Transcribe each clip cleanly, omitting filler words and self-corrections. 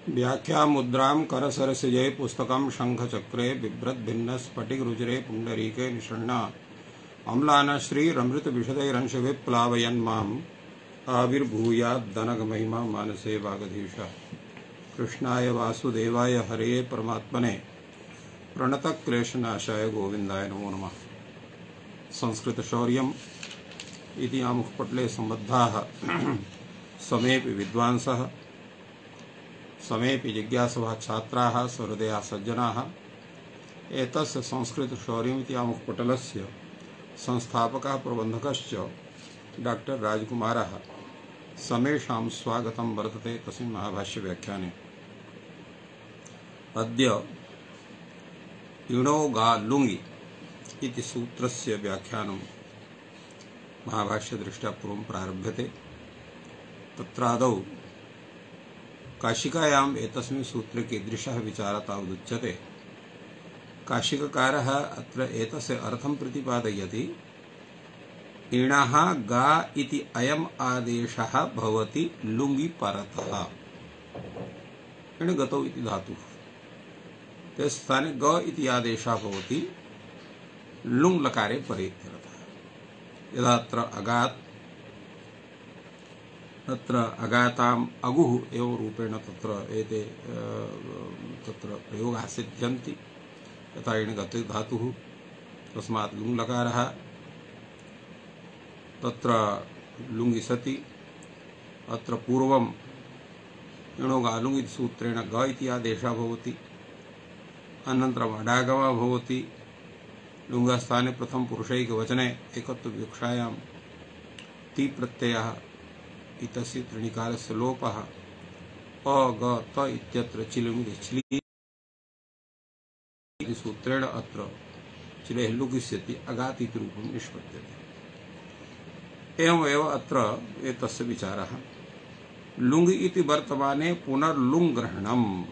व्याख्या मुद्रां करसरसिजे पुस्तकं शंखचक्रे बिभ्रद्भिन्न स्फटिकरुचिरे पुण्डरीके निषण्णा अम्लान श्रीरमृतविशदैरंशविप्लावयन्माम् आविर्भूयाद्दनगमहिमा मानसे वागधीश। कृष्णाय वासुदेवाय हरे परमात्मने प्रणतक्लेशनाशाय गोविन्दाय नमो नमः। संस्कृतशौर्यम् इति आमुखपटले सम्बद्धाः समेऽपि विद्वांसः समेऽपि जिज्ञासवः छात्राः सहृदयाः सज्जनाः एतस्य संस्कृतशौर्यम् इति आमुखपटलस्य संस्थापकः प्रबन्धकश्च डॉक्टर राजकुमारः समेषां स्वागतं वर्तते तस्मिन् महाभाष्यव्याख्याने। अद्य इणो गा लुङि इति सूत्रस्य व्याख्यानं महाभाष्यदृष्ट्या पूर्वं प्रारभ्यते। तत्रादौ काशिकायाम् एतस्मिन् सूत्रे कीदृशः विचारः तावदुच्यते। काशिककारः अत्र एतस्य अर्थं प्रतिपादयति। इणः गा इति अयम् आदेशः भवति लुङि परतः। इणगतौ इति धातुः ते स्थाने ग इति आदेशः भवति लुङ् लकारे परे इत्यर्थः। यदा अत्र अगात् तत्र अगाताम् अगुः एवं रूपेण तत्र एते तत्र प्रयोगाः सिद्ध्यन्ति। यथा इणगते धातुः तस्मात् लुङ् लकारः तत्र लुङि सति अत्र पूर्वम् इणो गा लुङि इति सूत्रेण ग इति आदेशः भवति। अनन्तरम् अडागमः भवति। लुङ्गस्थाने प्रथम पुरुषैकवचने एकत्वविवक्षायां ति प्रत्ययः इतस्य त्रिणिकारस्य लोपः अ ग त इत्यत्र चिलुङि छिलि इति सूत्रेण अत्र चिलेः लुगिष्यति अगात् इति रूपं निष्पद्यते। एवमेव अत्र एतस्य विचारः। लुङि इति वर्तमाने पुनर्लुङ् ग्रहणम्।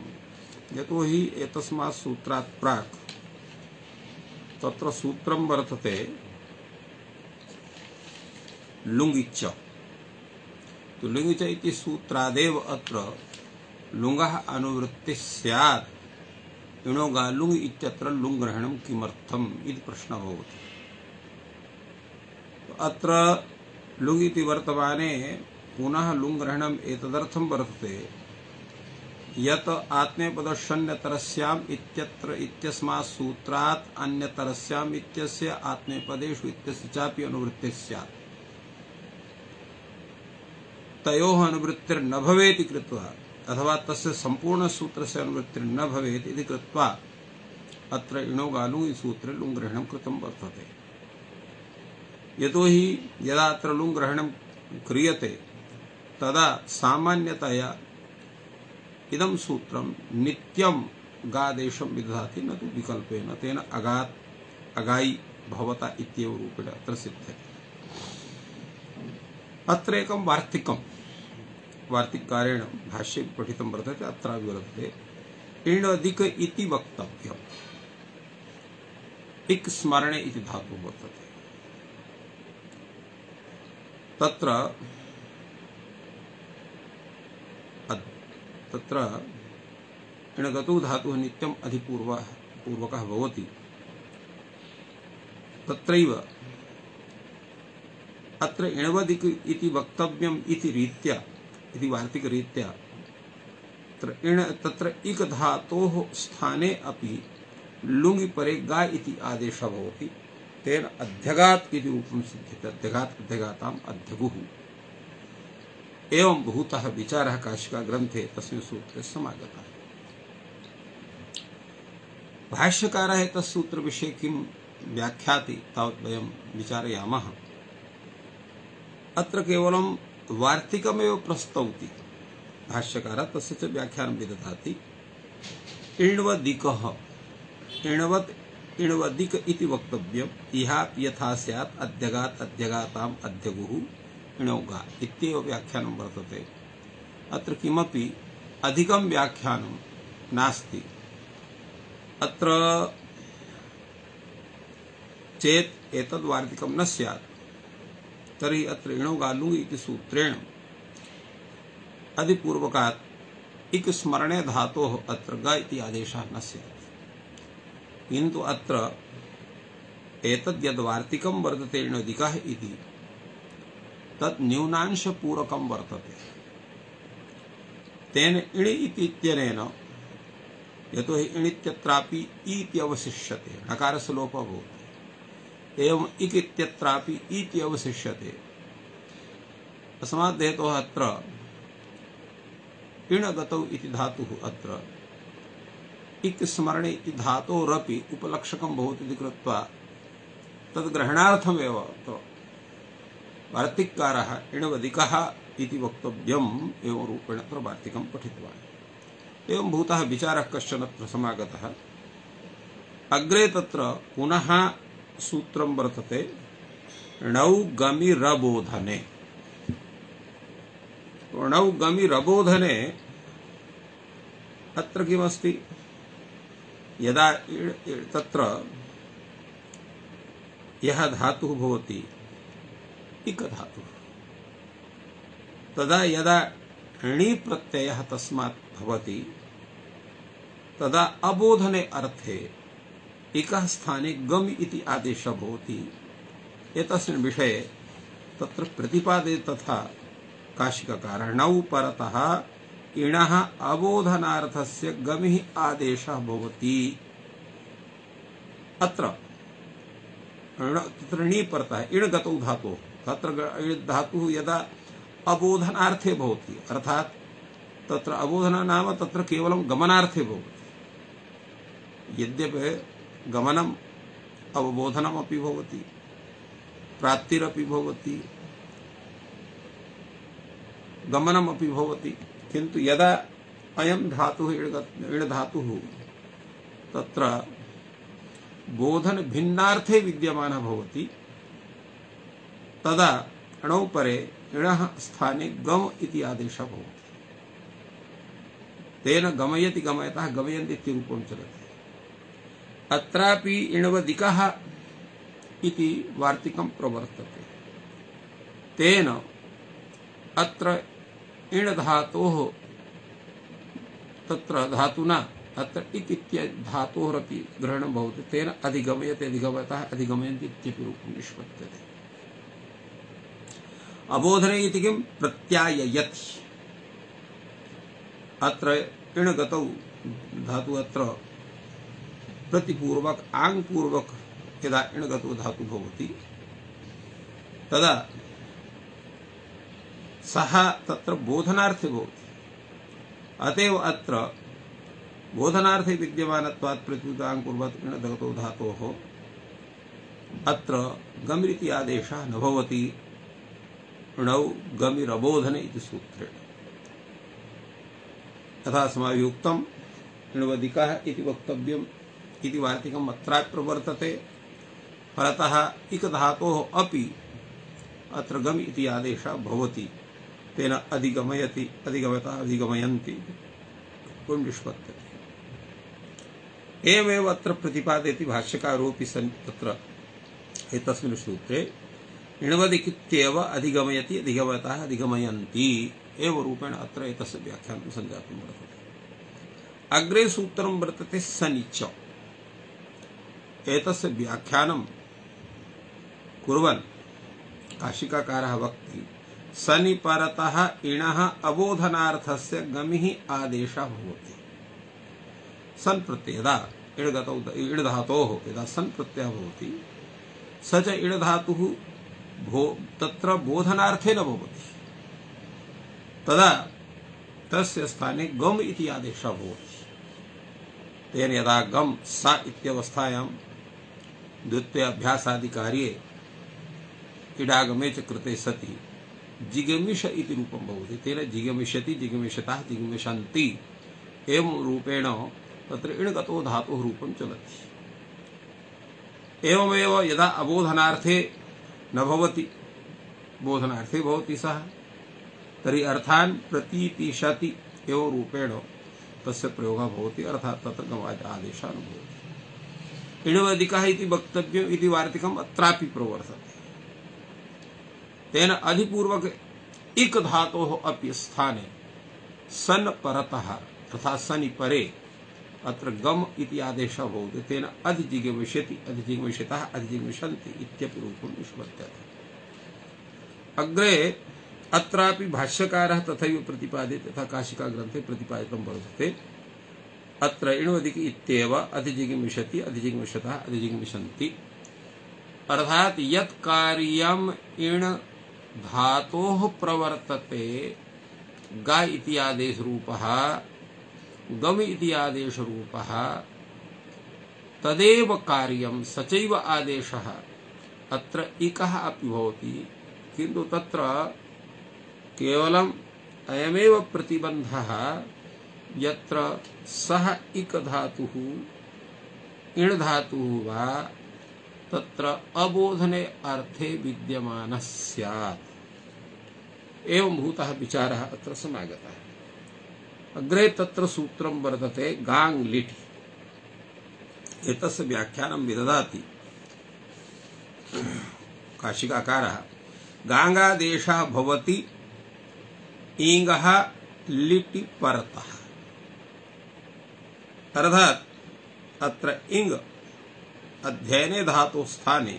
यतोहि एतस्मात् सूत्रात् प्राक् तत्र सूत्रं वर्तते लुङिच। तो लुङिच इति सूत्रादेव अत्र लुङः अनुवृत्तिः स्यात्। इणो गा लुङि इत्यत्र लुङ् ग्रहणं किमर्थम् इति प्रश्नः भवति। अत्र लुङ् इति वर्तमाने पुनः लुङ् ग्रहणम् एतदर्थं वर्तते यत् आत्मनेपदस्यन्यतरस्याम् इत्यत्र इत्यस्मात् सूत्रात् अन्यतरस्याम् इत्यस्य आत्मनेपदेषु इत्यस्य चापि अनुवृत्तिः स्यात्। तयोः अनुवृत्तिर्न भवेति कृत्वा अथवा तस्य संपूर्ण सूत्रस्य अनुवृत्तिर्न भवेत् इति कृत्वा अत्र इणो गा लुङि सूत्रे लुङ् ग्रहणं कृतं वर्तते। यतोहि यदा अत्र लुङ् ग्रहणं क्रियते तदा सामान्यतया इदं सूत्रं नित्यं गादेशं विदधाति न तु विकल्पेन। तेन अगात् अगाई भवता इत्येव रूपेण अत्र सिद्ध्यते। अत्र एकं वार्तिककारेण भाष्ये पठितं वर्तते। अत्र वर्तते इणदिक इति वक्तव्यम्। इक् स्मरणे इति धातुः वर्तते। तत्र इणगतो धातुः नित्यम् अधिपूर्वकः भवति। तत्रैव अत्र इणवदिक इति वक्तव्यम् इति रीत्या इति वार्तिकरीत्या तत्र इक् धातोः स्थाने अपि लुङि परे गा इति आदेशः भवति। तेन अध्यगात् इति रूपं सिद्ध्यते। अध्यगात् अध्यगाताम् अध्यगुः। एवं बहुतः विचारः काशिका ग्रन्थे तस्मिन् सूत्रे समागतः। भाष्यकारः एतत् सूत्रविषये किं व्याख्याति तावत् वयं विचारयामः। अत्र केवलं वार्तिकमेव प्रस्तौति भाष्यकारः। तस्य च व्याख्यानं विदधाति। इण्वदिकः इण्वदिक इति वक्तव्यम्। इहापि यथा स्यात् अध्यगात् अध्यगाताम् अध्यगुः इणो गा इत्येव व्याख्यानं वर्तते। अत्र किमपि अधिकं व्याख्यानं नास्ति। अत्र चेत् एतद् वार्तिकं न स्यात् तर्हि अत्र इणो गा लुङि इति सूत्रेण अधिपूर्वकात् इक स्मरणे धातोः अत्र ग इति आदेशः न स्यात्, किन्तु अत्र एतद् यद् वार्तिकं वर्तते इणोदिकः इति तत् न्यूनांशपूरकं वर्तते। तेन इणि इति इत्यनेन यतोहि इणित्यत्रापि इ इति अवशिष्यते, णकारस्य लोपः भवति, एवम् इक् इत्यत्रापि इ इति अवशिष्यते। तस्मात् हेतोः अत्र इणगतौ इति धातुः अत्र इक् स्मरणे इति धातोरपि उपलक्षकं भवति इति कृत्वा तद्ग्रहणार्थमेव वार्तिककारः इणवदिकः इति वक्तव्यम् एवं रूपेण अत्र वार्तिकं पठितवान्। एवं भूतः विचारः कश्चन अत्र समागतः। अग्रे तत्र पुनः सूत्रं वर्तते णौ गमि रबोधने। णौ गमि रबोधने अत्र किमस्ति, यदा तत्र यः धातुः भवति इक धातुः, तदा यदा णि प्रत्ययः तस्मात् भवति तदा अबोधने अर्थे इकः स्थाने गम इति आदेशः भवति। एतस्मिन् विषये तत्र प्रतिपादे तथा काशिकाकारः णौ परतः इणः अबोधनार्थस्य गमिः आदेशः भवति। अत्र णि परतः इणगतौ धातुः, तत्र धातुः यदा अबोधनार्थे भवति, अर्थात तत्र अबोधन नाम तत्र केवलं गमनार्थे भवति। यद्यपि गमनम् अवबोधनमपि भवति, प्राप्तिरपि भवति, गमनमपि भवति, किन्तु यदा अयं धातुः इण धातुः तत्र बोधन भिन्नार्थे विद्यमानः भवति तदा णौ परे इणः स्थाने गम इति आदेशः भवति। तेन गमयति गमयतः गमयन्ति इति रूपं चलति। अत्रापि इणवदिकः इति वार्तिकं प्रवर्तते। तेन अत्र इण धातोः तत्र धातुना अत्र इक् इत्य धातोरपि ग्रहणं भवति। तेन अधिगमयते अधिगमयतः अधिगमयन्ति इत्यपि रूपं निष्पद्यते। अबोधने इति किं प्रत्याययति। अत्र इणगतौ धातु अत्र प्रतिपूर्वक आङ्पूर्वक यदा इणगतो धातु भवति तदा सः तत्र बोधनार्थे भवति। अतएव अत्र बोधनार्थे विद्यमानत्वात् प्रतिपूर्वक इणगतो धातोः अत्र गमिति आदेशः न भवति। णौ गमिरबोधने इति सूत्रेण तथा अस्माभिः उक्तम् इणवदिकः इति वक्तव्यम् इति वार्तिकम् अत्रापि प्रवर्तते। फलतः इक धातोः अपि अत्र गम इति आदेशः भवति। तेन अधिगमयति अधिगमयतः अधिगमयन्ति निष्पद्यते। एवमेव अत्र प्रतिपादयति भाष्यकारोऽपि सन् तत्र एतस्मिन् सूत्रे इणवदिकित्येव अधिगमयति अधिगमयतः अधिगमयन्ति एव रूपेण अत्र एतस्य व्याख्यानं सञ्जातं वर्तते। अग्रे सूत्रं वर्तते सनिच। एतस्य व्याख्यानं कुर्वन् काशिकाकारः वक्ति सनि परतः इणः अबोधनार्थस्य गमिः आदेशः भवति। सन् प्रत्यय यदा इणगतौ इण धातोः यदा सन् प्रत्ययः भवति स च इण धातुः तत्र बोधनार्थे न भवति। तदा तस्य स्थाने गम इति आदेशः भवति। तेन यदा गम सा इत्यवस्थायां द्वितीय अभ्यासादि कार्ये इडागमे च कृते सति जिगमिष इति रूपं भवति। तेन जिगमिष्यति जिगमिषतः जिगमिषन्ति एवं रूपेण तत्र इणगतो धातुः रूपं चलति। एवमेव यदा अबोधनार्थे न भवति बोधनार्थे भवति सः तर्हि अर्थान् प्रतीतिशति एवं रूपेण तस्य प्रयोगः भवति। अर्थात् तत्र गमात् आदेशः न भवति। इणवदिकः इति वक्तव्यम् इति वार्तिकम् अत्रापि प्रवर्तते। तेन अधिपूर्वक इक धातोः अपि स्थाने सन परतः अर्थात सनि परे अत्र गम इति आदेशः भवति तेन अधिजिगमिष्यति अधिजिगमिष्यतः अधिजिगमिष्यन्ति इत्यपि रूपं निष्पद्यते। अग्रे अत्रापि भाष्यकारः तथैव प्रतिपादयति तथा काशिका ग्रन्थे प्रतिपादितं वर्तते। अत्र इण्वदिति इत्येव अधिजिगमिष्यति अधिजिगमिष्यतः अधिजिगमिष्यन्ति अर्थात यत् कार्यम् इण् धातोः प्रवर्तते गा इति आदेश रूपः गम इति आदेश रूपः तदेव कार्यं सचैव आदेशः अत्र इकः अपि भवति किन्तु तत्र केवलम् अयमेव प्रतिबन्धः यत्र सः इक धातुः इण् धातुः वा तत्र अबोधने अर्थे विद्यमानः स्यात् एवं भूतः विचारः अत्र समागतः। अग्रे तत्र सूत्रं वर्तते गाङ् लिटि एतस्य व्याख्यानं विदधाति काशिकाकारः गाङ्गादेशः भवति ईङ्गः लिटि परतः अर्थात अत्र इङ् अध्ययने धातु स्थाने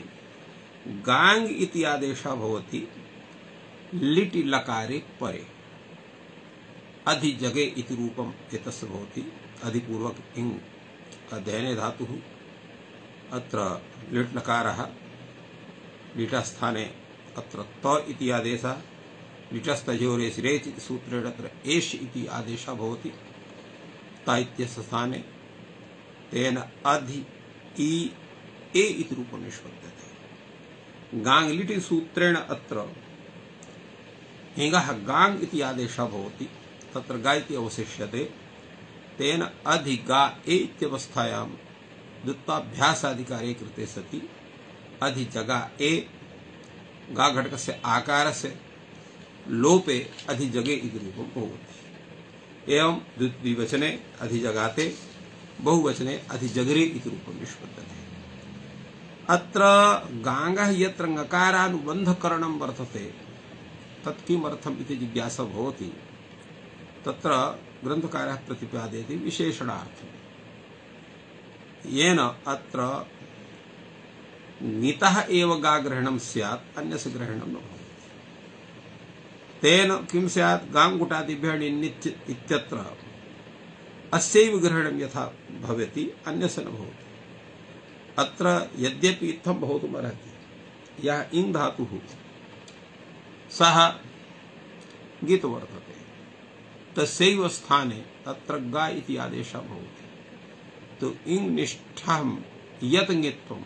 गाङ् इति आदेशः भवति लिटि लकारे परे अधिजगे इति रूपम् एतस्य भवति अधिपूर्वक इङ् अध्ययने धातुः अत्र लिट् लकारः लिटस्थाने अत्र त इति आदेशः लिटस्तयोरेस् रेच् इति सूत्रेण अत्र एष् इति आदेशः भवति ता इत्यस्य स्थाने तेन अधि इ ए इति रूपं निष्पद्यते। गाङ् लिटि सूत्रेण अत्र हिङ्गः गाङ् इति आदेशः भवति तत्र गा इति अवशिष्यते तेन अधि गा ए इत्यवस्थायां द्वित्वाभ्यासाधिकारे कृते सति अधि जगा ए गा घटकस्य आकारस्य लोपे अधि जगे इति रूपं भवति। एवं द्विवचने अधि जगाते बहुवचने अधि जगरे इति रूपं निष्पद्यते। अत्र गाङ्गः यत्र ङकारानुबन्धकरणं वर्तते तत् किमर्थम् इति जिज्ञासा भवति। तत्र ग्रन्थकारः प्रतिपादयति विशेषणार्थं येन अत्र ङितः एव गा ग्रहणं स्यात् अन्यस्य ग्रहणं न भवति। तेन किं स्यात् गाङ्गुटादिभ्यः णिन् इत्यत्र अस्यैव ग्रहणं यथा भवति अन्यस्य न भवति। अत्र यद्यपि इत्थं भवितुमर्हति यः इङ् धातुः सः ङित् वर्तते तस्यैव स्थाने अत्र गा इति आदेशः भवति तो इङ् निष्ठं यत् ङित्वं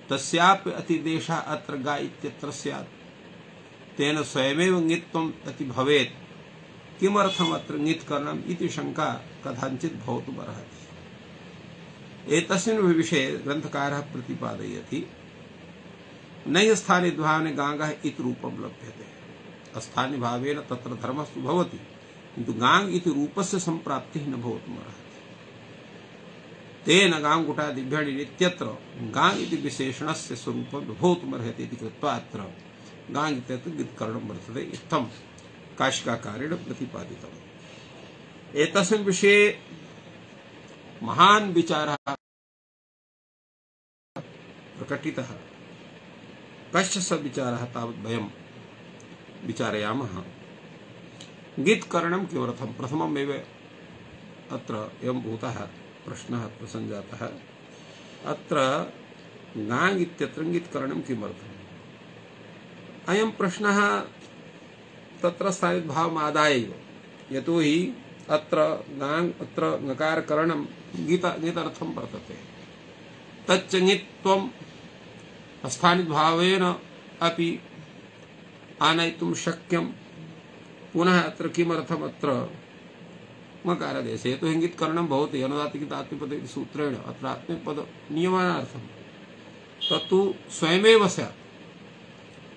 तस्यापि अतिदेशः अत्र गा इत्यत्र स्यात् तेन स्वयमेव ङित्वम् अति भवेत् किमर्थम् अत्र ङित् करणम् इति शङ्का कथञ्चित् भवितुमर्हति। एतस्मिन् विषये ग्रन्थकारः प्रतिपादयति नैः स्थानिद्भावने गाङ्गः इति रूपं लभ्यते अस्थानिभावेन तत्र धर्मस्तु भवति किन्तु गाङ् इति रूपस्य सम्प्राप्तिः न भवितुमर्हति। तेन गाङ्गुटादिभ्यः णिन् इत्यत्र गाङ् इति विशेषणस्य स्वरूपं भवितुमर्हति इति कृत्वा अत्र गाङ् इत्यत्र ङित्करणं वर्तते इत्थं काशिकाकारेण प्रतिपादितम्। एतस्मिन् विषये महान् विचारः प्रकटितः। कश्च स विचारः तावत् वयं विचारयामः। ङित्करणं किमर्थं प्रथममेव अत्र एवं भूतः प्रश्नः अत्र सञ्जातः अत्र गाङ् इत्यत्र ङित्करणं किमर्थम्। अयं प्रश्नः तत्र स्थानिद्भावमादाय एव यतोहि अत्र गाङ् अत्र ङकारकरणं ङितर्थं वर्तते तच्च ङित्वं स्थानिद्भावेन अपि आनयितुं शक्यं पुनः अत्र किमर्थम् अत्र ङकारादेशे यतोहि ङित्करणं भवति अनुदात्तकित आत्मपद इति सूत्रेण अत्र आत्मपद नियमनार्थं तत्तु स्वयमेव स्यात्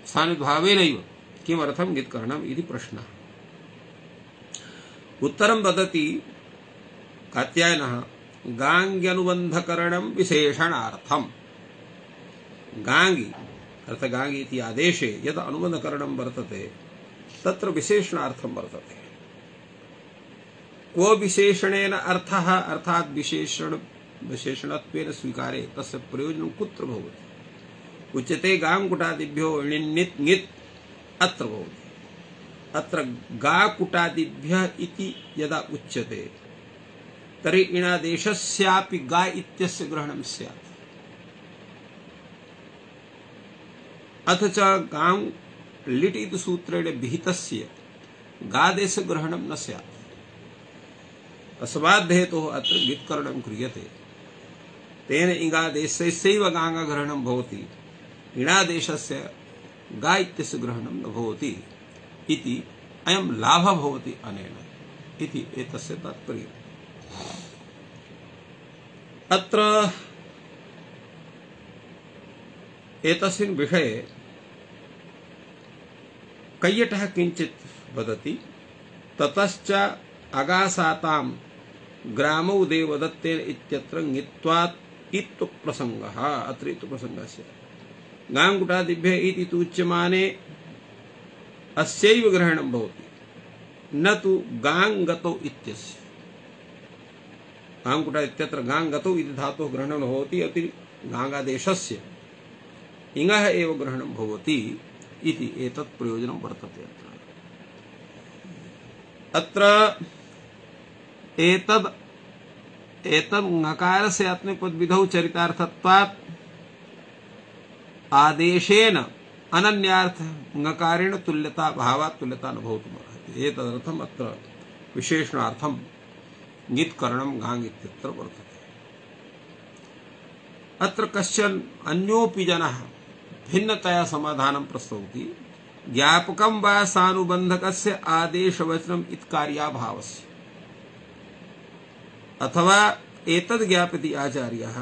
स्थानिद्भावेनैव किमर्थं ङित्करणम् इति प्रश्नः। उत्तरं ददति कात्यायनः गाङ्ग्यनुबन्धकरणं विशेषणार्थम्। गाङ्गि अर्थात् गाङ्गि इति आदेशे यद् अनुबन्धकरणं वर्तते तत्र विशेषणार्थं वर्तते। क्व विशेषणेन अर्थः अर्थात विशेषणत्वेन स्वीकारे तस्य प्रयोजनं कुत्र भवति? उच्यते गाङ्गुटादिभ्यो णित् ङित् अत्र भवति। अत्र गाकुटादिभ्यः इति यदा उच्यते तर्हि इणादेशस्यापि गा इत्यस्य ग्रहणं स्यात्। अथ च गां लिट् इति सूत्रेण विहितस्य गादेश ग्रहणं न स्यात्। तस्माद् हेतोः अत्र ङित्करणं क्रियते। तेन इङादेशस्यैव गाङ्गग्रहणं भवति, इणादेशस्य गा इत्यस्य ग्रहणं न भवति इति अयं लाभः भवति अनेन इति एतस्य तात्पर्यम्। अत्र एतस्मिन् विषये कैयटः किञ्चित् वदति। ततश्च अगासातां ग्रामौ देवदत्तेन इत्यत्र ङित्वात् इत्तु प्रसङ्गः। अत्र इत्तु प्रसङ्गस्य गाङ्गुटादिभ्यः इति तु उच्यमाने अस्यैव ग्रहणं भवति, न तु गाङ्गतौ इत्यस्य। गाङ्गुटा इत्यत्र गाङ्गतौ इति धातोः ग्रहणं भवति, अति गाङ्गादेशस्य इङः एव ग्रहणं भवति इति एतत् प्रयोजनं वर्तते। अत्र एतद् ङकारस्य आत्मनेपदविधौ चरितार्थत्वात् आदेशेन अनन्यार्थ ङकारेण तुल्यता भावात् तुल्यता न भवितुमर्हति। एतदर्थम् अत्र विशेषणार्थं ङित्करणं गाङ् इत्यत्र वर्तते। अत्र कश्चन अन्योऽपि जनः भिन्नतया समाधानं प्रस्तौति। ज्ञापकं वा सानुबन्धकस्य आदेशवचनम् इत्कार्याभावस्य, अथवा एतद् ज्ञापयति आचार्यः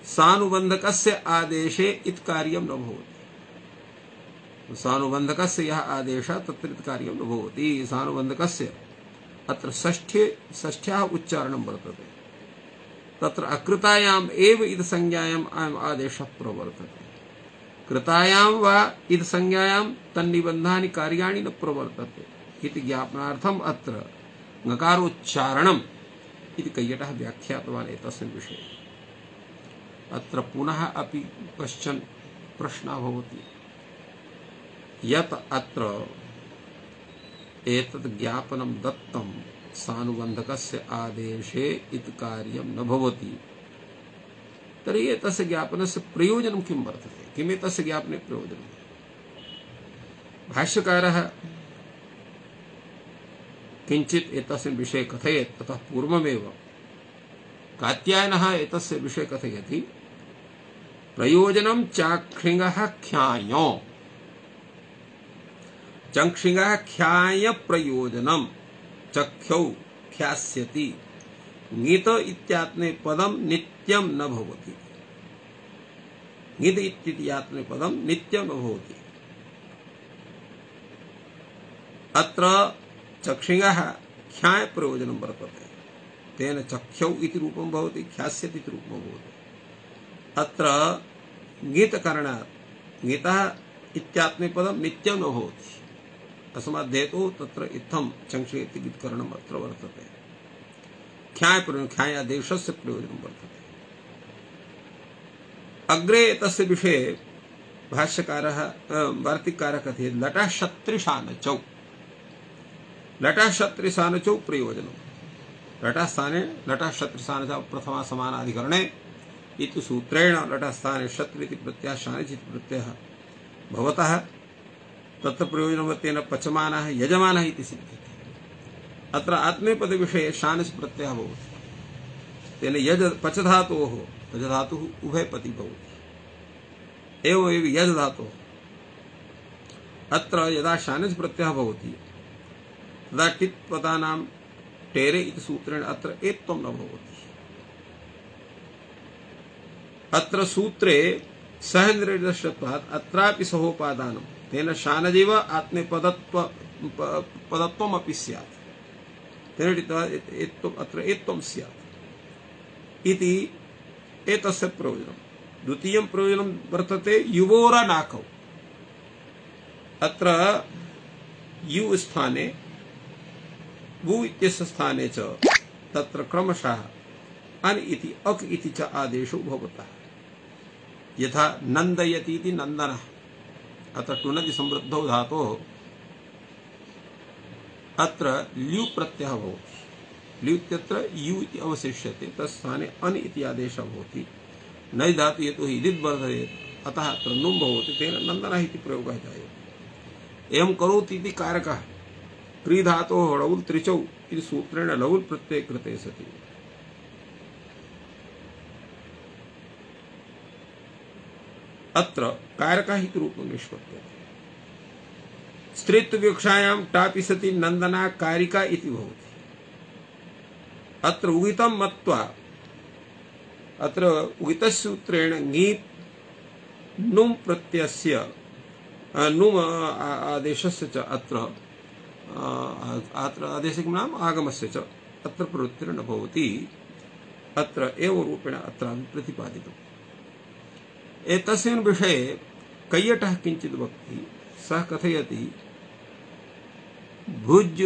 सानुबन्धकस्य आदेशे इत्कार्यं न भवति। सानुबन्धकस्य यः आदेशः तत्र इत्कार्यं न भवति। सानुबन्धकस्य अत्र षष्ठ्याः उच्चारणं वर्तते। तत्र अकृतायाम् एव इति संज्ञायाम् अयम् आदेशः प्रवर्तते। कृतायां वा इति संज्ञायां तन्निबन्धानि कार्याणि न प्रवर्तते इति ज्ञापनार्थम् अत्र ङकारोच्चारणम् इति कैयटः व्याख्यातवान् एतस्मिन् विषये। अत्र पुनः अपि कश्चन प्रश्नः भवति यत् अत्र एतद् ज्ञापनं दत्तं सानुबन्धकस्य आदेशे इति कार्यं न भवति, तर्हि एतस्य ज्ञापनस्य प्रयोजनं किं वर्तते? किम् एतस्य ज्ञापने प्रयोजनं? भाष्यकारः किञ्चित् एतस्मिन् विषये कथयेत्। ततः पूर्वमेव कात्यायनः एतस्य विषये कथयति। प्रयोजनं चाक्षिणः ख्याय, चक्षिणः ख्याय प्रयोजनं चख्यौ ख्यास्यति। ङित इत्यात्मनेपदं नित्यं न भवति। ङित इत्यात्मनेपदं नित्यं न भवति। अत्र चक्षिणः ख्याय प्रयोजनं वर्तते। तेन चख्यौ इति रूपं भवति, ख्यास्यति इति रूपं भवति। अत्र ङितकरणात् ङितः इत्यात्मनेपदं नित्यं न भवति। तस्माद् हेतोः तत्र इत्थं चङ्क्षे इति ङित्करणम् अत्र वर्तते। ख्यायादेशस्य प्रयोजनं वर्तते। अग्रे तस्य विषये भाष्यकारः वार्तिककारः कथयति। लटः शत्रिशानचौ, लटः शत्रिशानचौ प्रयोजनं। लटः स्थाने लटः शत्रिशानचौ प्रथमा समानाधिकरणे इति सूत्रेण लटः स्थाने शत्रि इति प्रत्ययः शानिच् इति प्रत्ययः भवतः तत्र प्रयोजनवत्तेन पचमानः यजमानः इति सिद्ध्यति। अत्र आत्मनेपद विषये शानिच् प्रत्ययः भवति। तेन यज पच धातोः पच धातुः उभयपति भवति। एवमेव यज धातोः अत्र यदा शानिच् प्रत्ययः भवति तदा टित् पदानां टेरे इति सूत्रेण अत्र एत्वं न भवति। अत्र सूत्रे सह निर्देशत्वात् अत्रापि सहोपादानं तेन शानजेव आत्मनेपदत्वम् अपि स्यात्। तेन अत्र एत्वं स्यात् इति एतस्य प्रयोजनं। द्वितीयं प्रयोजनं वर्तते युवोरनाकौ। अत्र यु स्थाने वु इत्यस्य स्थाने च तत्र क्रमशः अन इति अक इति च आदेशो भवतः। यथा नन्दयति इति नन्दनः, अत्र टुनति समृद्धौ धातोः अत्र ल्यु प्रत्ययः भवति। ल्यु इत्यत्र यु इति अवशिष्यते, तत्स्थाने अन इति आदेशः भवति। नै धातु यतो हि इदित् वर्धयेत्, अतः अत्र नुम् भवति, तेन नन्दनः इति प्रयोगः जायते। एवं करोति इति कारकः क्री धातोः लवुल् त्रिचौ इति सूत्रेण लवुल् प्रत्यये कृते सति अत्र कारकः इति रूपं निष्पद्यते। स्त्रीत्वविवक्षायां टापि सति नन्दना कारिका इति भवति। अत्र उगितं मत्वा अत्र उगितसूत्रेण ङीप् नुम् प्रत्ययस्य नुम् आदेशस्य च अत्र आदेशः किं नाम आगमस्य च अत्र प्रवृत्तिर्न भवति। अत्र एवं रूपेण अत्र प्रतिपादितम्। एतस्मिन् विषये कैयटः किञ्चित् वक्ति। सः कथयति भुज्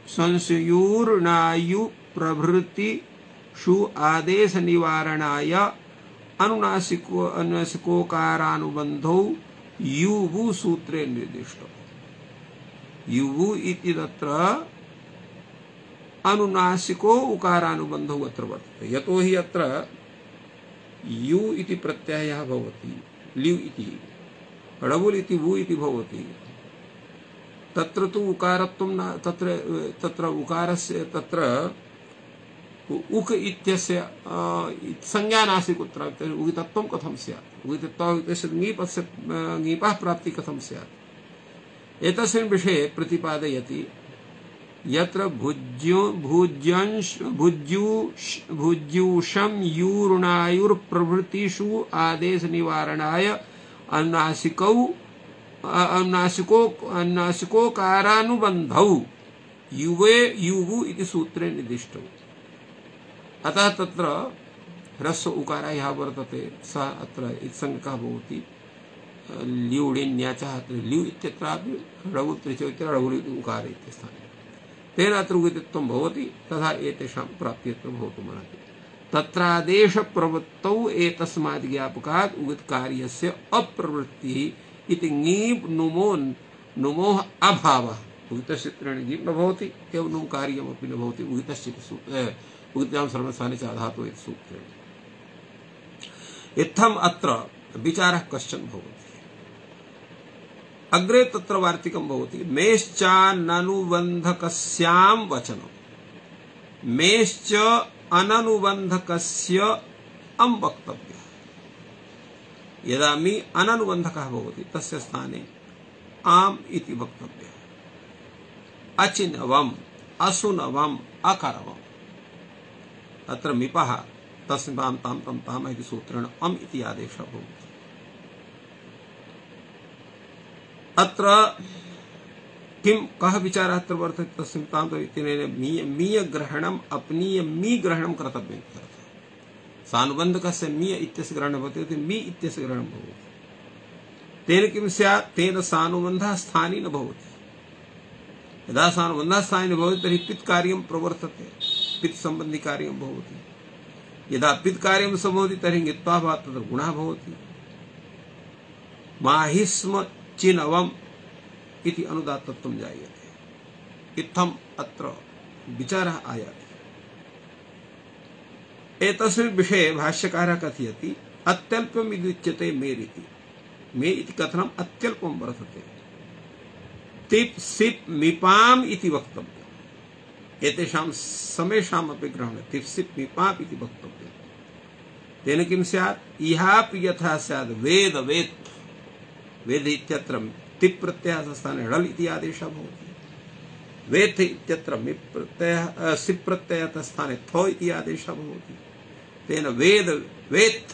संशुयुर्नायु प्रभृति षु आदेश निवारणाय अनुनासिकोकारानुबन्धौ युवु सूत्रे निर्दिष्टो। युवु इति तत्र अनुनासिको उकारानुबन्धौ अत्र वर्तते। यतो हि अत्र यु इति प्रत्ययः भवति, ल्यु इति ळवुल् इति वु इति भवति। तत्र तु उकारत्वं न, तत्र उकारस्य तत्र उक इत्यस्य संज्ञा नास्ति कुत्र, उगितत्वं कथं स्यात्, उगितत्वस्य ङीपः प्राप्ति कथं स्यात्। एतस्मिन् विषये प्रतिपादयति यत्र भुज्यूषं यूर्णायुर्प्रभृतिषु आदेश निवारणाय अनुनासिकोकारानुबन्धौ युवु इति सूत्रे निर्दिष्टौ। अतः तत्र ह्रस्व उकारः यः वर्तते सः अत्र इत्सङ्गकः भवति। ल्यूडिन्याचः अत्र ल्यु इत्यत्रापि ळवुल् त्रिचौ इति ळवुल् उकार इत्यस्थाने तेन अत्र उगितत्वं भवति। तथा एतेषां प्राप्तिः भवितुमर्हति। तत्रादेशप्रवृत्तौ एतस्माद् ज्ञापकात् उगितकार्यस्य अप्रवृत्तिः इति ङीप् नुमोः अभावः। उगितसूत्रेण ङीप् न भवति, एवं नुम् कार्यमपि न भवति। उगितां सर्वस्थाने च धातुः इति सूत्रेण इत्थम् अत्र विचारः कश्चन भवति। अग्रे तत्र वार्तिकं भवति मेश्चाननुबन्धकस्यां वचनं। मेश्च अननुबन्धकस्य अं वक्तव्यः। यदा मी अननुबन्धकः भवति तस्य स्थाने आम् इति वक्तव्यः। अचिनवम्, असुनवम्, अकरवम्। अत्र मिपः तस्मां तां तं ताम इति सूत्रेण अम् इति आदेशः भवति। अत्र किं कः विचारः अत्र वर्तते तस्मिन् तां इत्यनेन मीय ग्रहणम् अपनीय मी ग्रहणं कर्तव्यम् इत्यर्थः। सानुबन्धकस्य मीय इत्यस्य ग्रहणं भवति, मी इत्यस्य ग्रहणं भवति। तेन किं स्यात्, तेन सानुबन्धः स्थानी न भवति। यदा सानुबन्धः स्थानी न भवति तर्हि पित् कार्यं प्रवर्तते, पित् सम्बन्धि कार्यं भवति। यदा पित् कार्यं सम्भवति तर्हि ङित्वाभावात् तत्र गुणः भवति। माहिस्म चिनवम् इति अनुदात्तत्वं जायते। इत्थम् अत्र विचारः आयाति। एतस्मिन् विषये भाष्यकारः कथयति अत्यल्पम् इति उच्यते मेरिति। मे इति कथनम् अत्यल्पं वर्तते। तिप् सिप् मिपाम् इति वक्तव्यम्। एतेषां समेषामपि ग्रहणे तिप् सिप् मिपाम् इति वक्तव्यम्। तेन किं स्यात्, इहापि यथा स्यात् वेद वेत्। वेद इत्यत्र तिप् प्रत्ययस्य स्थाने ळल् इति आदेशः भवति। वेत् इत्यत्र मिप् प्रत्ययः सिप् प्रत्ययस्य स्थाने थ इति आदेशः भवति। तेन वेद वेत्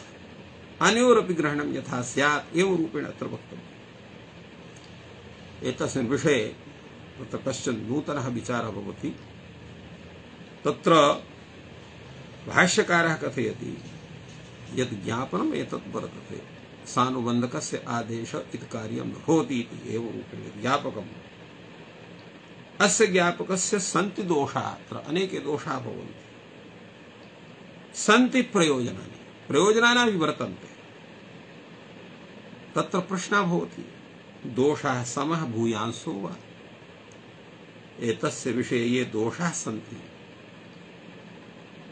अन्योरपि ग्रहणं यथा स्यात् एवं रूपेण अत्र वक्तव्यम्। एतस्मिन् विषये तत्र कश्चन नूतनः विचारः भवति। तत्र भाष्यकारः कथयति यत् ज्ञापनम् एतत् वर्तते सानुबन्धकस्य आदेश इति कार्यं न भवति इति एवं रूपेण ज्ञापकम् अस्य ज्ञापकस्य सन्ति दोषाः अत्र अनेके दोषाः भवन्ति सन्ति प्रयोजनानि प्रयोजनानि वर्तन्ते तत्र प्रश्नः भवति दोषाः समः भूयांसो वा एतस्य विषये ये दोषाः सन्ति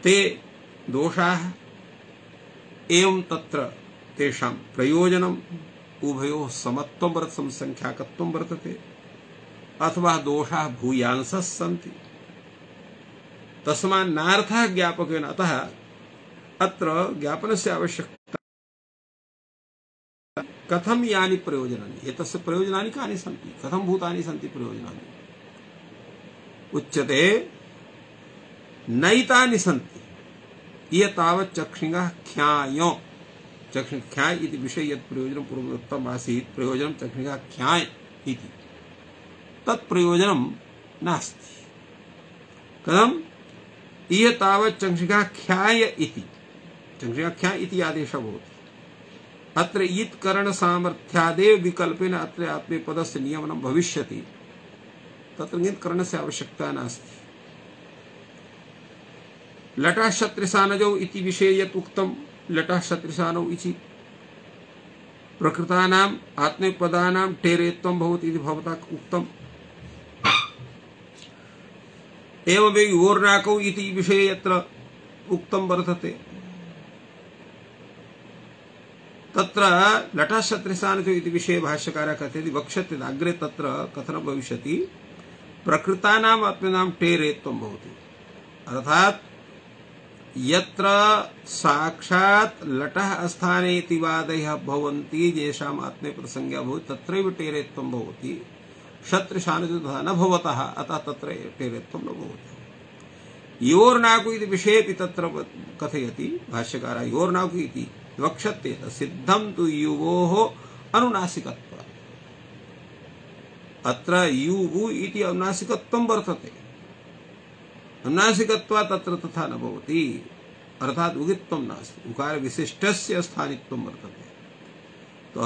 ते दोषाः एवं तत्र तेषां प्रयोजनम् उभयोः समत्वं वर्तते संख्याकत्वं वर्तते अथवा दोषाः भूयांसः सन्ति तस्मात् नार्थः ज्ञापकेन अतः अत्र ज्ञापनस्य आवश्यकता कथं यानि प्रयोजनानि एतस्य प्रयोजनानि कानि सन्ति कथं भूतानि सन्ति प्रयोजनानि उच्यते नैतानि सन्ति ये तावत् चक्षिणः ख्याय चक्षिण ख्याय इति विषये यत् प्रयोजनं पूर्वोक्तम् आसीत् प्रयोजनं चक्षिणः ख्याय इति तत् प्रयोजनं नास्ति कथं ये तावत् चक्षिणः ख्याय इति चक्षिणः ख्याय इति आदेशः भवति अत्र इत् करण सामर्थ्यादेव विकल्पेन अत्र आत्मनेपदस्य नियमनं भविष्यति तत्र इत् करणस्य आवश्यकता नास्ति लटः शत्रिसानजौ इति विषये यत् उक्तं लटः शत्रिसानौ इति प्रकृतानाम् आत्मनेपदानां टेरेत्वं भवति इति भवता उक्तम् एवमेव योर्नाकौ इति विषये यत्र उक्तं वर्तते तत्र लटः शत्रिसानजौ इति विषये भाष्यकारः कथयति वक्ष्यते अग्रे तत्र कथनं भविष्यति प्रकृतानाम् आत्मनां टेरेत्वं भवति अर्थात् यत्र साक्षात् लटः अस्थाने इति वादयः भवन्ति येषाम् आत्मनेपदसंज्ञा भवति तत्रैव टेरेत्वं भवति शत्रुशानजो तथा न भवतः अतः तत्र टेरेत्वं न भवति योर्नाकु इति विषयेपि तत्र कथयति भाष्यकारः योर्नाकु इति वक्ष्यते सिद्धं तु युवोः अनुनासिकत्वात् अत्र युवु इति अनुनासिकत्वं वर्तते अनुनासिकत्वात् तत्र तथा न भवति अर्थात् उगित्वं नास्ति उकार विशिष्टस्य स्थानित्वं वर्तते तो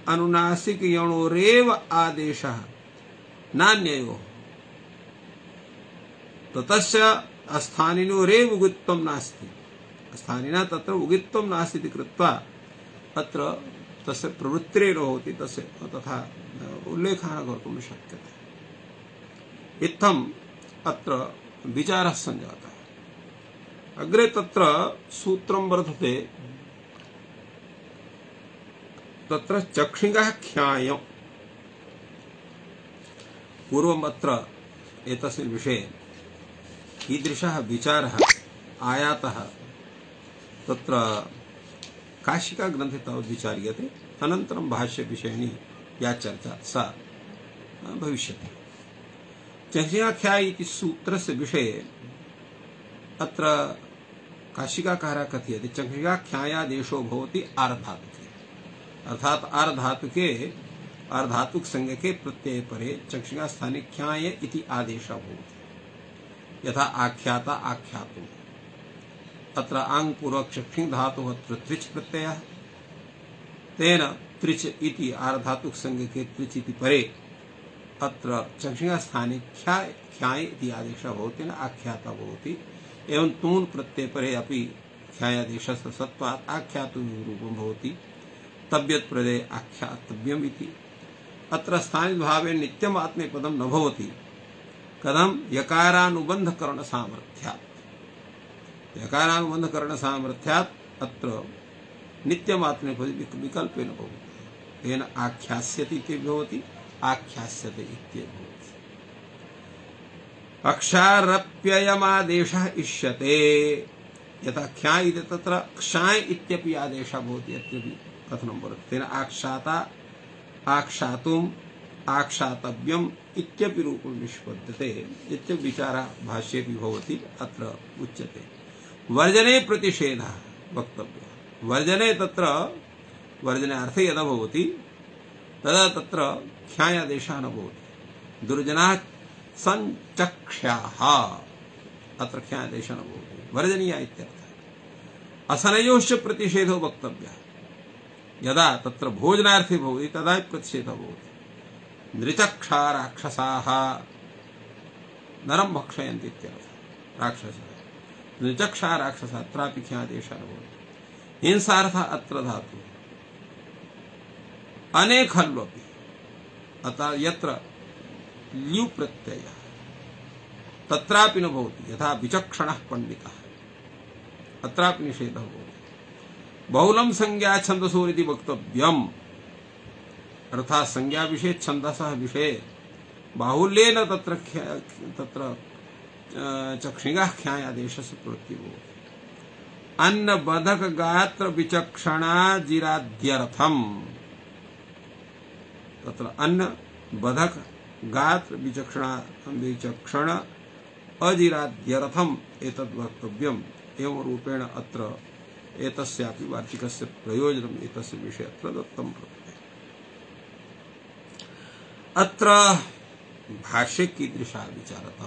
अनुनासिक यणोरेव आदेशः नान्ययोः ततस्य अस्थानिनोरेव उगित्वं नास्ति स्थानिना तत्र उगित्वं नास्ति इति कृत्वा अत्र तस्य प्रवृत्तिरेव भवति तस्य तथा उल्लेखः कर्तुं न शक्यते इत्थम् अत्र विचारः सञ्जातः अग्रे तत्र सूत्रं वर्तते तत्र चक्षिणः ख्याय पूर्वम् अत्र एतस्मिन् विषये कीदृशः विचारः आयातः तत्र काशिका ग्रन्थे तावत् विचार्यते अनन्तरं भाष्यविषयिणी या चर्चा सा भविष्यति चक्षिणः ख्याय इति सूत्रस्य विषये अत्र काशिकाकारः कथयति चक्षिणः ख्यायादेशो भवति आर्धातुके अर्थात आर्धातुके आर्धातुक संज्ञके प्रत्यय परे चक्षिणः स्थाने ख्याय इति आदेशः भवति यथा आख्याता आख्यातुम् अत्र आंग पूर्वक चक्षिण धातुः अत्र त्रिच प्रत्ययः तेन त्रिच इति आर्धातुक संज्ञके त्रिच इति परे अत्र चक्षिणः स्थाने ख्याय इति आदेशः भवति न आख्याता भवति एवं तून प्रत्यय परे अपि ख्यायादेशस्य सत्वात् आख्यातुं रूपं भवति तब्यत् प्रदे आख्यातव्यम् इति अत्र स्थानिभावे नित्यम् आत्मनेपदं न भवति कथं यकारानुबन्धकरण सामर्थ्यात् यकारानुबन्धकरण सामर्थ्यात् अत्र नित्यम् आत्मनेपदी विकल्पेन भवति तेन आख्यास्यति इति भवति आख्यास्यते इत्येव भवति अक्षारप्ययमादेशः इष्यते यथा ख्याय इति तत्र क्षाय इत्यपि आदेशः भवति इत्यपि कथनं वर्तते तेन आक्षाता आक्षातुम् आक्षातव्यम् इत्यपि रूपं निष्पद्यते इत्यपि विचारः भाष्येपि भवति अत्र उच्यते वर्जने प्रतिषेधः वक्तव्यः वर्जने तत्र वर्जने अर्थे यदा भवति तदा तत्र ख्यायादेशः न भवति दुर्जनाः संचक्ष्याः अत्र ख्यायादेशः न भवति वर्जनीया इत्यर्थः असनयोश्च प्रतिषेधो वक्तव्यः यदा तत्र भोजनार्थे भवति तदा प्रतिषेधः भवति नृचक्षा राक्षसाः नरं भक्षयन्ति इत्यर्थः राक्षसः नृचक्षा राक्षसः अत्रापि ख्यादेशः भवति हिंसार्थः अत्र धातुः अनेखल्वपि अतः यत्र ल्यु प्रत्ययः तत्रापि न भवति यथा विचक्षणः पंडितः अत्रापि निषेधः भवति बहुलं संज्ञा छन्दसोरिति वक्तव्यम् अर्थात् संज्ञा विषये छन्दसः विषये बाहुल्येन तत्र चक्षिणः ख्यायादेशस्य प्रवृत्तिः भवति अन्न बधक गात्र विचक्षणा जिराद्यर्थम् तत्र अन्न बधक गात्र विचक्षण अजिराद्यर्थम् एतद् वक्तव्यम् एवं रूपेण अत्र एतस्यापि वार्तिकस्य प्रयोजनम् एतस्य विषये अत्र दत्तं वर्तते। अत्र भाष्ये कीदृशः विचारः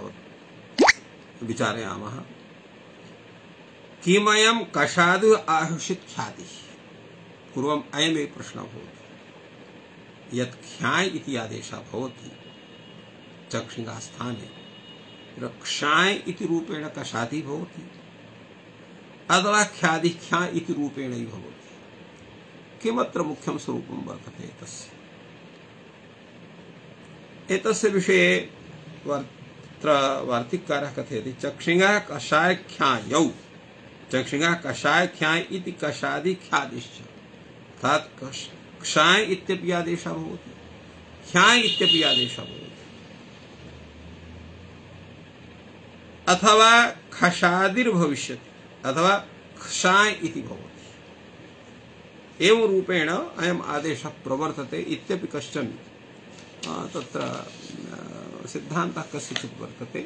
विचारयामः किमयं कषादु आहुषित ख्यातिः पूर्वम् अयमेव प्रश्नः भवति यत् ख्याय इति आदेशः भवति चक्षिणा स्थाने क्षाय इति रूपेण कषादि भवति अथवा ख्यादि ख्या इति रूपेण भवति किमत्र मुख्यं स्वरूपं वर्तते एतस्य एतस्य विषये वार्तिककारः कथयति चक्षिणः कषाय ख्यायौ चक्षिणः कषाय ख्याय इति कषादि ख्यादिश्च अर्थात् क्षाय इत्यपि आदेशः भवति ख्याय इत्यपि आदेशः भवति अथवा खशादिर्भविष्यति अथवा क्षाय इति भवति एवं रूपेण अयम् आदेशः प्रवर्तते इत्यपि कश्चन तत्र सिद्धान्तः कस्यचित् वर्तते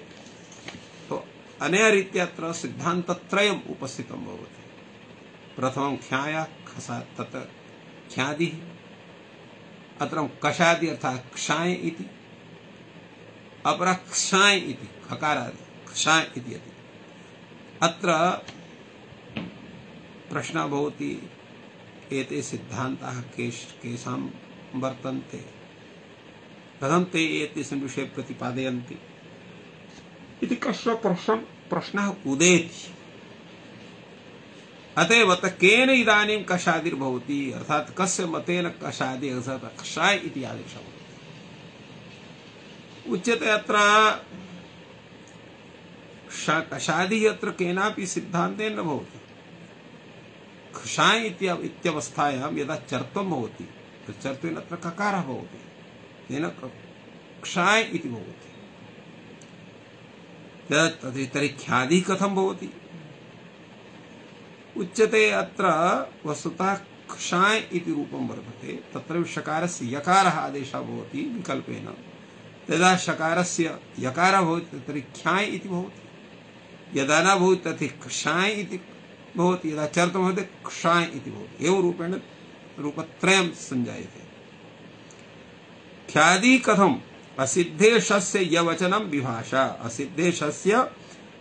तो अनया रीत्या अत्र सिद्धान्तत्रयम् उपस्थितं भवति प्रथमं ख्याय खसा तत् ख्यादिः अत्र कषादि अर्थात् क्षाय इति अपरः क्षाय इति खकारादि क्षाय इति अत्र प्रश्नः भवति एते सिद्धान्ताः केषां वर्तन्ते कथं ते एतेषां विषये प्रतिपादयन्ति इति कश्चन प्रश्नः उदेति अतएव केन इदानीं कषादिर्भवति अर्थात् कस्य मतेन कषादि अर्थात् क्षाय इति आदेशः उच्यते अत्र कषादि अत्र केनापि सिद्धान्तेन न भवति क्षाय इत्यवस्थायां यदा चर्त्वं भवति चर्त्वेन अत्र ककारः भवति तेन क्षाय इति भवति तर्हि ख्यादि कथं भवति उच्यते अत्र वस्तुतः क्षाय इति रूपं वर्तते तत्र शकारस्य यकारः आदेशः भवति विकल्पेन यदा शकारस्य यकारः भवति तर्हि ख्याय इति भवति यदा न भवति तर्हि क्षाय इति भवति यदा चर्त्वं भवति क्षाय इति भवति एवं रूपेण रूपत्रयं संजायते ख्यादि कथम् असिद्धेशस्य यवचनं विभाषा असिद्धेशस्य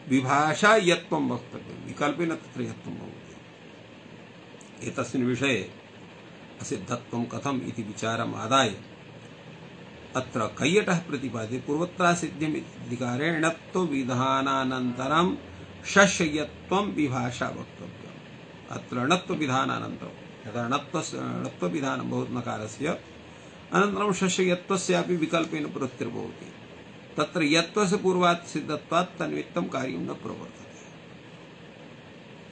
विभाषा यत्त्वं वक्तव्यं विकल्पेन तत्र यत्त्वं भवति एतस्मिन् विषये असिद्धत्वं कथम् इति विचारम् आदाय अत्र कैयटः प्रतिपाद्यते पूर्वत्रासिद्ध्यम् इत्यधिकारेण णत्व विधानानन्तरं शस्ययत्वं विभाषा वक्तव्यम् अत्र णत्व विधानानन्तरं यदा णत्व विधानं भवति नकारस्य अनन्तरं शस्ययत्वस्यापि विकल्पेन प्रवृत्तिर्भवति तत्र यत्वस्य पूर्वात् सिद्धत्वात् तन्निमित्तं कार्यं न प्रवर्तते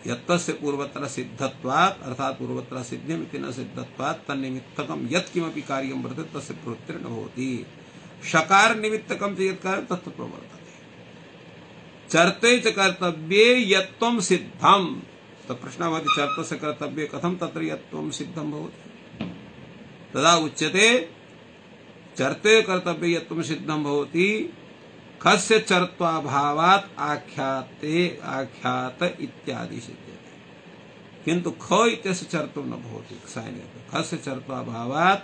यत्वस्य पूर्वत्र सिद्धत्वात् अर्थात् पूर्वत्र सिद्ध्यम् इति न सिद्धत्वात् तन्निमित्तकं यत् किमपि कार्यं वर्तते तस्य प्रवृत्तिर्न भवति शकार निमित्तकं च यत् कार्यं तत् प्रवर्तते चर्ते च कर्तव्ये यत्त्वं सिद्धं तो प्रश्नः भवति चर्तस्य कर्तव्ये कथं तत्र यत्त्वं सिद्धं भवति तदा उच्यते चर्ते कर्तव्ये यत्त्वं सिद्धं भवति खस्य चर्त्वाभावात् आख्यात इत्यादि सिद्ध्यते किन्तु ख इत्यस्य चर्त्वं न भवति खस्य चर्त्वाभावात्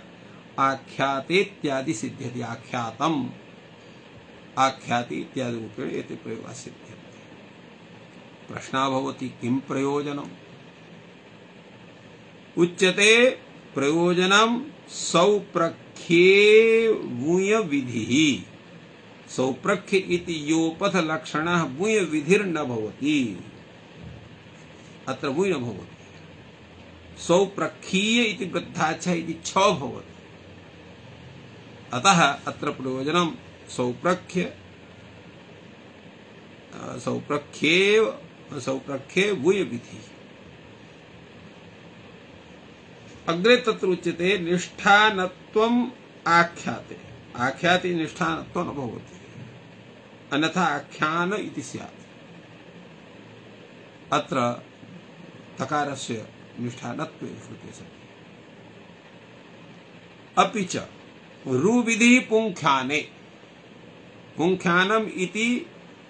आख्याते इत्यादि सिद्ध्यति आख्यातम् आख्याति इत्यादि रूपेण एते प्रयोगाः सिद्ध्यन्ते प्रश्नः भवति किं प्रयोजनम् उच्यते प्रयोजनं सौप्रख्ये वूय विधि सौप्रख्य इति योपथ लक्षणः वूय विधिर्न भवति अत्र वूय न भवति सौप्रख्यीय इति वृद्धाच्छ इति छ भवति अतः अत्र प्रयोजनं सौप्रख्ये वूय विधि अग्रे तत्र उच्यते निष्ठानत्वम् आख्याते आख्याते निष्ठानत्वं न भवति अन्यथा आख्यान इति स्यात् अत्र तकारस्य निष्ठानत्वे श्रुते सति अपि च रुविधि पुंख्याने पुंख्यानम इति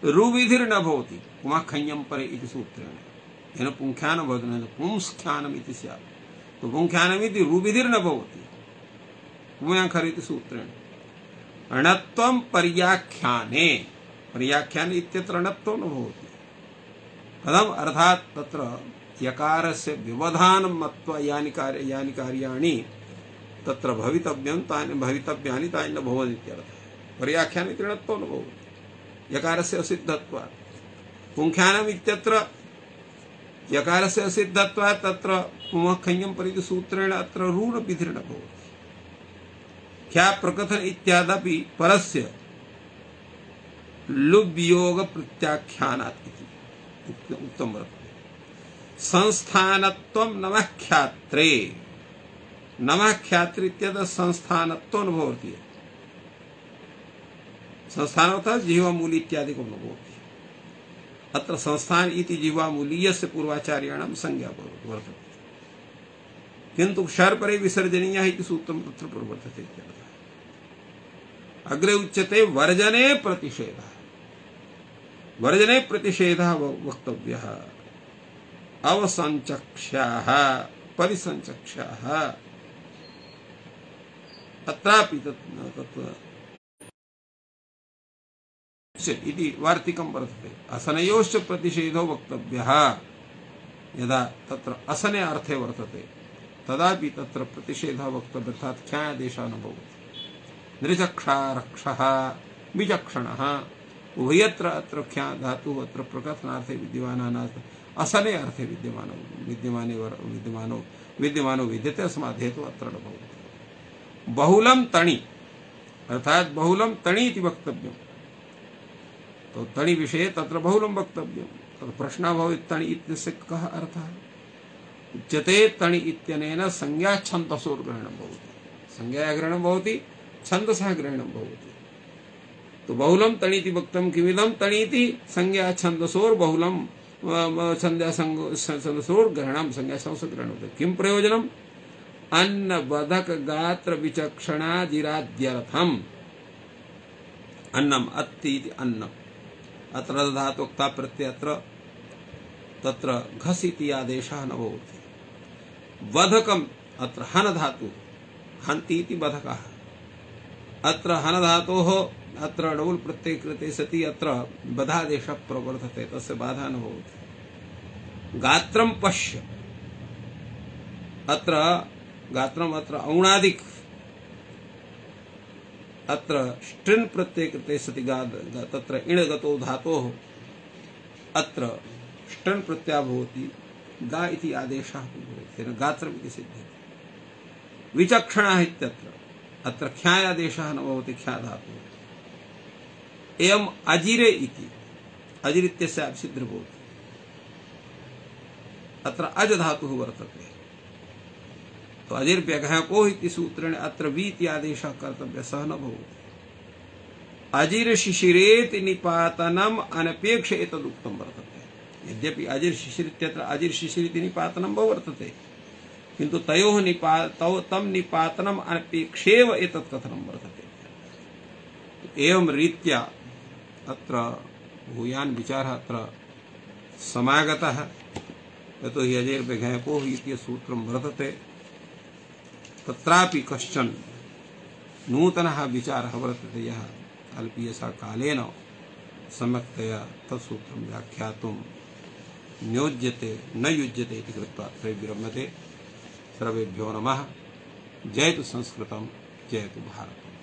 रुविधिर्न भवति पुमाखञ्ञं परे इति सूत्रेण येन पुंख्यानं भवति न पुंस्ख्यानम् इति स्यात् तो पुंख्यानम् इति रुविधिर्न भवति पुमाखर इति सूत्रेण अणत्वं पर्याख्याने पर्याख्याने इत्यत्र अणत्वं न भवति कथम् अर्थात् तत्र यकारस्य व्यवधानं मत्वा यानि कार्याणि तत्र भवितव्यं तानि भवितव्यानि तानि न भवन्ति इत्यर्थः पर्याख्याने ऋणत्वं न भवति यकारस्य असिद्धत्वात् पुंख्यानम् इत्यत्र यकारस्य असिद्धत्वात् तत्र पुमखञ्ञं परिति सूत्रेण अत्र ऋण विधिर्न भवति ख्या प्रकथन इत्यादपि परस्य लुब्योग प्रत्याख्यानात् इति उक्तं वर्तते संस्थानत्वं नमख्यात्रे नमख्यात्रे इत्यतः संस्थानत्वं न भवति संस्थानतः जिह्वामूली इत्यादिकं न भवति अत्र संस्थान इति जिह्वामूलीयस्य पूर्वाचार्याणां संज्ञा वर्तते किन्तु क्षरपरे विसर्जनीयः इति सूत्रं तत्र प्रवर्तते इत्यर्थः अग्रे उच्यते वर्जने प्रतिषेधः वक्तव्यः अवसंचक्ष्याः परिसंचक्ष्याः अत्रापि इति वार्तिकं वर्तते असनयोश्च प्रतिषेधो वक्तव्यः यदा तत्र असने अर्थे वर्तते तदापि तत्र प्रतिषेधः वक्तव्यः अर्थात् ख्यादेशः न भवति नृचक्षारक्षः विचक्षणः उभयत्र अत्र ख्या धातुः अत्र प्रकथनार्थे विद्यमानानां असने अर्थे विद्यमानो विद्यते अस्मात् हेतुः अत्र न भवति बहुलं तणि अर्थात् बहुलं तणि इति वक्तव्यं तो तणि विषये तत्र बहुलं वक्तव्यं तत्र प्रश्नः भवेत् तणि इत्यस्य कः अर्थः उच्यते तणि इत्यनेन संज्ञा छन्दसोर्ग्रहणं भवति संज्ञायाः ग्रहणं भवति छन्दसः ग्रहणं भवति तो बहुलं तणि इति वक्तं किमिदं तणि इति संज्ञा छन्दसोर्बहुलं छन्दसोर्ग्रहणं संज्ञा छन्दसोर्ग्रहणं भवति किं प्रयोजनम् अन्न बधक गात्र विचक्षणाजिराद्यर्थम् अन्नम अत्ति इति अन्नम् अत्र धातुक्ता प्रत्यत्र तत्र घस इति आदेशः न भवति बधकम् अत्र हन धातु हन्ति इति बधकः अत्र हन धातोः अत्र डबुल् प्रत्यय कृते सति अत्र बधादेशः प्रवर्तते तस्य बाधा न भवति गात्रं पश्य अत्र गात्रम् अत्र औणादिक अत्र स्ट्रिन् प्रत्यय कृते सति तत्र इणगतो धातोः अत्र स्ट्रिन् प्रत्ययः भवति गा इति आदेशः भवति तेन गात्रम् इति सिद्ध्यति विचक्षणः इत्यत्र अत्र ख्यायादेशः न भवति ख्या धातुः एवं अजिरे इति अजिर इत्यस्य सिद्ध भवति अत्र अज धातुः वर्तते तो अजिर व्यघको इति सूत्रेण अत्र वी इति आदेशः कर्तव्यः सः न भवति अजिर शिशिरेति निपातनम् अनपेक्ष एतदुक्तं वर्तते यद्यपि अजिर शिशिर इत्यत्र अजिर शिशिर इति निपातनं वर्तते किन्तु तयोः तं निपातनम् अनपेक्षेव एतत् कथनं वर्तते एवं रीत्या अत्र भूयान् विचारः अत्र समागतः यतो हि अजिर व्यघको इति सूत्रं वर्तते तत्रापि कश्चन नूतनः विचारः वर्तते यः अल्पीयसा कालेन सम्यक्तया तत्सूत्रं व्याख्यातुं नियोज्यते न युज्यते इति कृत्वा अत्र विरम्यते सर्वेभ्यो नमः जयतु संस्कृतम् जयतु भारतम्।